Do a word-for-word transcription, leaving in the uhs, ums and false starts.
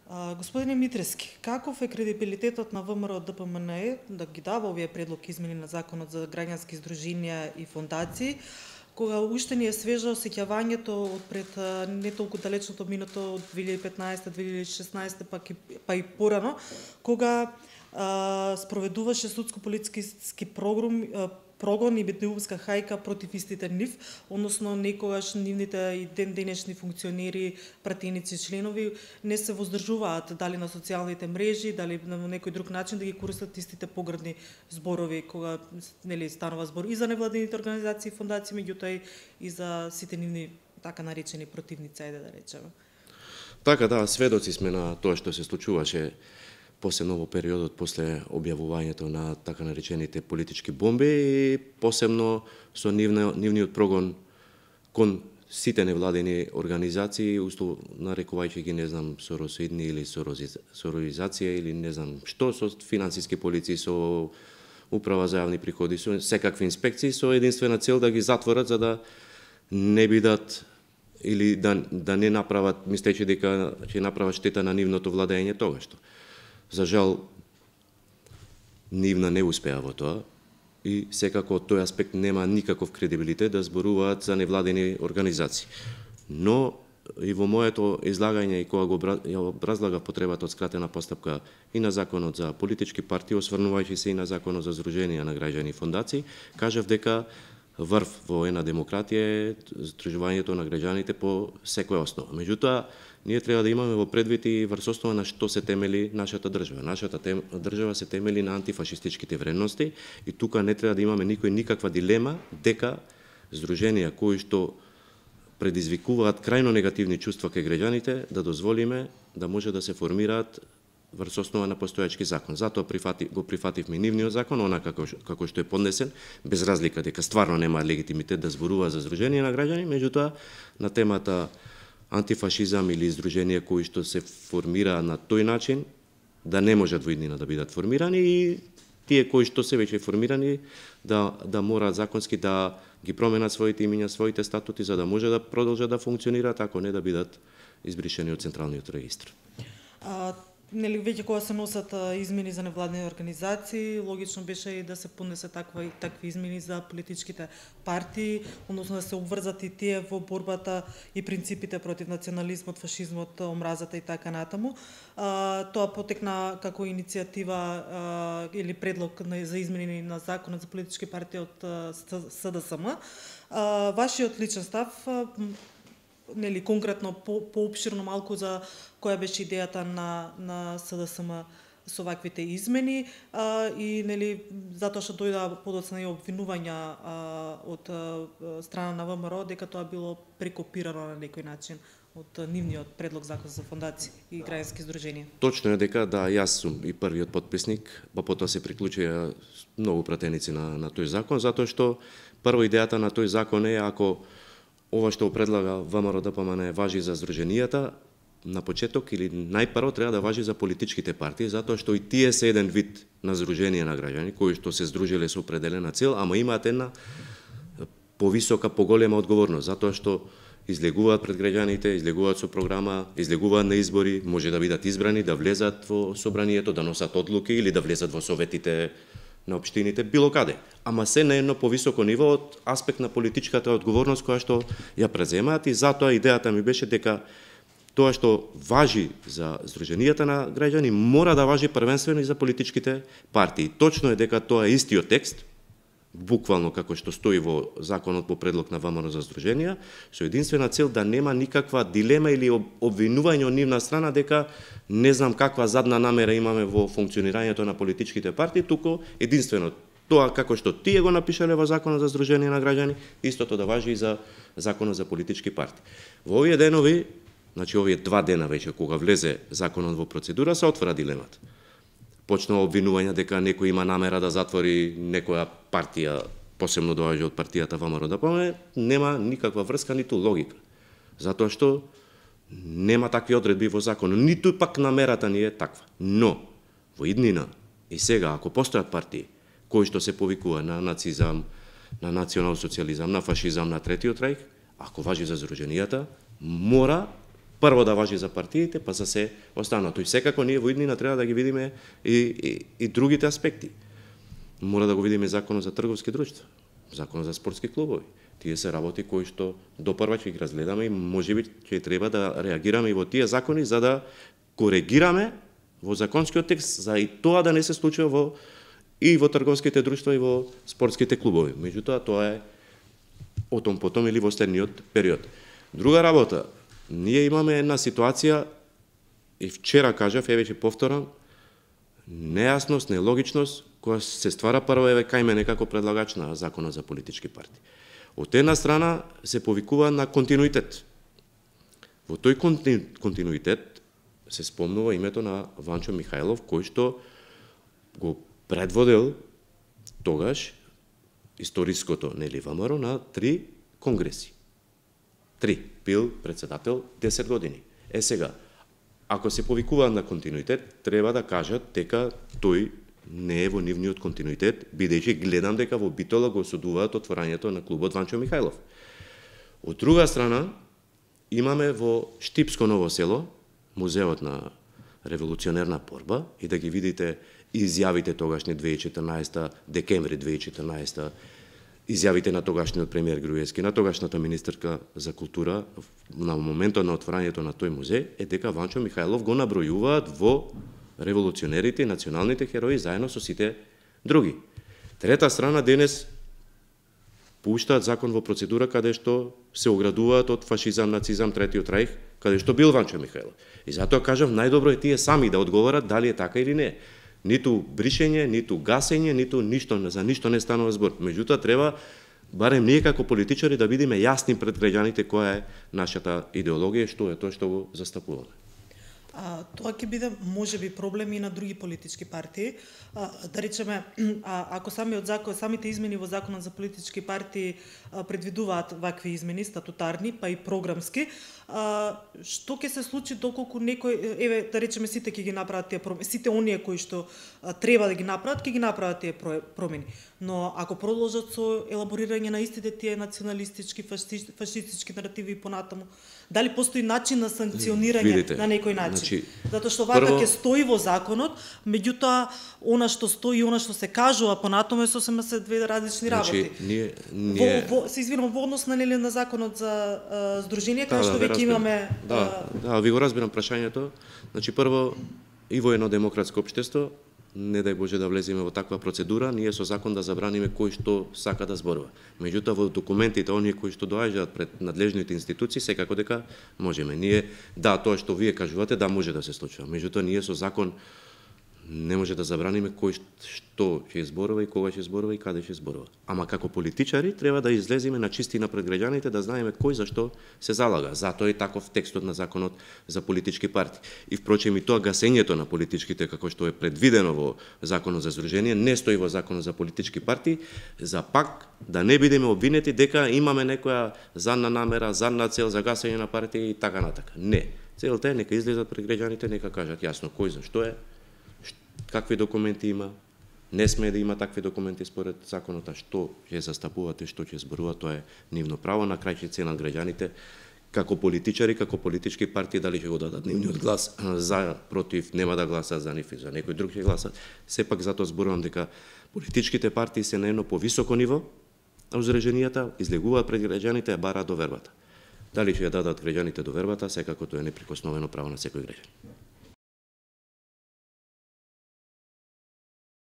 Господине Митрески, каков е кредибилитетот на ВМРО Д П М Н Е да ги дава овие предлог измени на Законот за граѓански здруженија и фондации, кога уште ни е свежо сеќавањето од пред не толку далечното минато од две илјади и петнаесета две илјади и шеснаесета па, па и порано, кога а, спроведуваше судско-полициски програм прогон и беднувска хајка против истите нив, односно некогаш нивните и ден денешни функционери, пратеници, членови не се воздржуваат дали на социјалните мрежи, дали на некој друг начин да ги користат истите погрдни зборови кога нели станува збор и за невладините организации и фондации, меѓутоа и за сите нивни така наречени противници, ајде да речеме. Така да, сведоци сме на тоа што се случуваше посебно во периодот после објавувањето на така наречените политички бомби и посебно со нивна, нивниот прогон кон сите невладени организации, усто нарекувајќи ги, не знам, соросоидни или сорозизација или не знам што, со финансиски полиции, со управа за јавни приходи, со секакви инспекции, со единствена цел да ги затворат за да не бидат или да, да не направат, мислејќи дека ќе направат штета на нивното владење тогаш што. За жал, нивна не успеа во тоа и секако од тој аспект нема никаков кредибилитет да зборуваат за невладени организации. Но и во моето излагање и кога го образлагав потребата од скратена постапка и на Законот за политички партии, осврнувајќи се и на Законот за здруженија на граѓани и фондации, кажав дека врв во една демократија е здружувањето на граѓаните по секоја основа. Меѓутоа, ние треба да имаме во предвид и врз основа на што се темели нашата држава. Нашата тем, држава се темели на антифашистичките вредности и тука не треба да имаме никој никаква дилема дека здруженија кои што предизвикуваат крајно негативни чувства кај граѓаните да дозволиме да може да се формираат врз основа на постојачки закон. Затоа прифати, го прифативме нивниот закон, онака како, како што е поднесен, без разлика дека стварно нема легитимитет да зборува за здружение на граѓани, меѓутоа на темата антифашизам или здруженија кои што се формира на тој начин, да не можат во иднина да бидат формирани и тие кои што се веќе формирани да, да мораат законски да ги променат своите имиња, своите статути, за да може да продолжат да функционираат, ако не да бидат избришени од Централниот регистр. А... Нели веќе кога се носат измени за невладени организации, логично беше и да се поднесе таква и такви измени за политичките партии, односно да се обврзат и тие во борбата и принципите против национализмот, фашизмот, омразата и така натаму. А, тоа потекна како иницијатива а, или предлог за измени на Законот за политички партии од С Д С М. А, вашиот личен став, нели конкретно по поопширно малку за која беше идејата на на С Д С М со ваквите измени а, и нели затоа што дојда подоцна и обвинувања а, од а, страна на В М Р О дека тоа било прекопирано на некој начин од нивниот предлог закон за фондации и граѓански здруженија. Точно е дека да, јас сум и првиот потписник, па потоа се приклучија многу пратеници на на тој закон, затоа што прво идејата на тој закон е ако ова што предлага В М Р Д П М Н важи за здруженијата, на почеток или најпрво треба да важи за политичките партии, затоа што и тие се еден вид на здруженија на граѓани, кои што се здружиле со определена цел, ама имаат една повисока, поголема одговорност, затоа што излегуваат пред граѓаните, излегуваат со програма, излегуваат на избори, може да бидат избрани, да влезат во собранието, да носат одлуки или да влезат во советите на општините, било каде. Ама се на едно повисоко ниво од аспект на политичката одговорност која што ја преземаат и затоа идејата ми беше дека тоа што важи за здруженијата на граѓани мора да важи првенствено и за политичките партии. Точно е дека тоа е истиот текст, буквално како што стои во законот по предлог на В М Р за здруженија, со единствена цел да нема никаква дилема или обвинување од нивна страна дека не знам каква задна намера имаме во функционирањето на политичките партии, туку единствено тоа како што тие го напишале во Законот за здружение на граѓани, истото да важи и за Законот за политички партии. Во овие денови, значи овие два дена веќе кога влезе законот во процедура, се отвора дилемата. Почнува обвинување дека некој има намера да затвори некоја партија, посебно доаѓа од партијата В М Р Д П М Н, нема никаква врска ниту логика. Затоа што нема такви одредби во законот, ниту пак намерата ни е таква. Но во иднина и сега ако постојат партии кои што се повикува на нацизам, на национал социјализам, на фашизам, на третиот рајх, ако важи за здруженијата, мора прво да важи за партиите, па за се останато. И секако ние во иднина треба да ги видиме и, и, и другите аспекти. Мора да го видиме законот за трговски друштва, законот за спортски клубови. Тие се работи кои што допрва ќе ги разгледаме и можеби ќе треба да реагираме и во тие закони за да коригираме во законскиот текст за и тоа да не се случува во и во трговските друштва и во спортските клубови. Меѓутоа тоа е отом потом или во следниот период. Друга работа, ние имаме една ситуација и вчера кажав, еве ќе повторам, нејасност, нелогичност која се ствара прво еве кај мене како предлагач на законот за политички партии. Од една страна се повикува на континуитет. Во тој континуитет се спомнува името на Ванчо Михајлов, кој што го предводел тогаш историското нели ВМРО на три конгреси. Три. Бил председател десет години. Е сега, ако се повикуваат на континуитет, треба да кажат дека тој не е во нивниот континуитет, бидејќи гледам дека во Битола го осудуваат отворањето на клубот Ванчо Михајлов. Од друга страна, имаме во Штипско Ново село, музеот на револуционерна борба, и да ги видите изјавите тогашни две илјади и четрнаесета, декември две илјади и четрнаесета, изјавите на тогашниот премиер Груевски, на тогашната министерка за култура на моментот на отворањето на тој музеј, е дека Ванчо Михајлов го набројуваат во револуционерите и националните херои заедно со сите други. Трета страна, денес пуштаат закон во процедура каде што се оградуваат од фашизам, нацизам, третиот рајх, каде што бил Ванчо Михајлов. И затоа кажав, најдобро е тие сами да одговорат дали е така или не. Ниту бришење, ниту гасење, ниту ништо, за ништо не станува збор. Меѓутоа треба барем ние како политичари да бидеме јасни пред граѓаните која е нашата идеологија, што е тоа што го застапуваме. А, тоа ќе биде можеби проблем и на други политички партии. А, да речеме, а, ако самиот закон, самите измени во законот за политички партии а, предвидуваат вакви измени статутарни, па и програмски, а, што ќе се случи доколку некој, еве да речеме сите ќе ги направат тие промени, сите оние кои што а, треба да ги направат, ќе ги направат тие промени. Но ако продолжат со елаборирање на истите тие националистички, фашистички наративи и понатаму, дали постои начин на санкционирање Видите, на некој начин? Значи, затоа што вака ќе стои во законот, меѓутоа она што стои и она што се кажува понатаму е сосема се две различни работи. Значи, ние, ние... Во, во, се извинувам, во однос на нели на законот за а, здружение, кај да, што да, веќе имаме... Да, а... да, ви го разбирам прашањето. Значи, прво, и во едно демократско општество, не дај Боже да влеземе во таква процедура, ние со закон да забраниме кој што сака да зборува. Меѓутоа во документите оние кои што доаѓаат пред надлежните институции, секако дека можеме. Ние да, тоа што вие кажувате, да може да се случува. Меѓутоа ние со закон не може да забраниме кој што ќе зборува и кога ќе зборува и каде ќе зборува. Ама како политичари треба да излеземе на чистина пред граѓаните, да знаеме кој за што се залага. Затоа е таков текстот на законот за политички партии. И впрочем и тоа гасењето на политичките како што е предвидено во законот за здружение не стои во законот за политички партии, за пак да не бидеме обвинети дека имаме некоја задна намера, задна цел за гасење на партии и така натака. Не. Целта е нека излезат пред граѓаните, нека кажат јасно кој за што е, какви документи има, не смее да има такви документи според законот, а што ќе застапувате, што ќе зборува, тоа е нивно право, на крај ќе ценат граѓаните како политичари, како политички партии, дали ќе го дадат нивниот глас за, против, нема да гласат за нив и за некој друг ќе гласат. Сепак затоа зборувам дека политичките партии се на едно повисоко ниво, а узреженијата излегуваат пред граѓаните и бараат довербата. Дали ќе ја дадат граѓаните довербата, секако тоа е неприкосновено право на секој граѓанин.